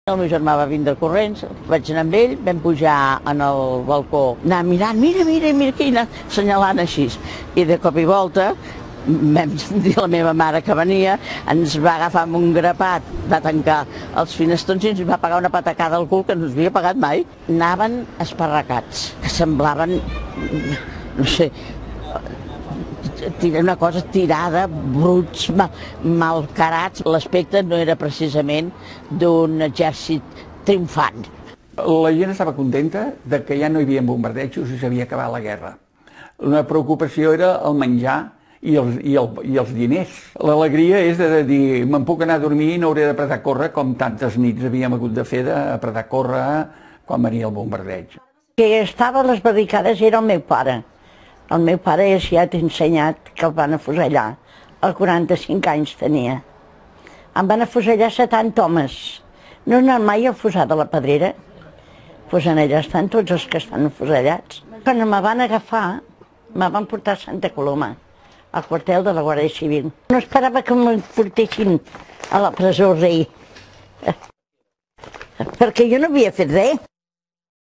El meu germà va vindre corrents, vaig anar amb ell, vam pujar en el balcó, anar mirant, mira, que hi anar assenyalant així. I de cop i volta vam dir a la meva mare que venia, ens va agafar amb un grapat, va tancar els finestrons i ens va pegar una patacada al cul que no ens havia pegat mai. Anaven esparracats, que semblaven, no sé, una cosa tirada, bruts, malcarats. L'aspecte no era precisament d'un exèrcit triomfant. La gent estava contenta de que ja no hi havia bombardejos i s'havia acabat la guerra. Una preocupació era el menjar i els diners. L'alegria és de dir, me'n puc anar a dormir i no hauré d'apretar a córrer com tantes nits havíem hagut de fer d'apretar a córrer quan venia el bombardeig. Que estava a les barricades era el meu pare. El meu pare ja t'he ensenyat que el van afusellar. El 45 anys tenia. Em van afusellar 70 homes. No he anat mai al fossar de la Pedrera. Doncs allà estan tots els que estan afusellats. Quan me van agafar, me van portar a Santa Coloma, al quartel de la Guàrdia Civil. No esperava que me portessin a la presó rei, perquè jo no havia fet res.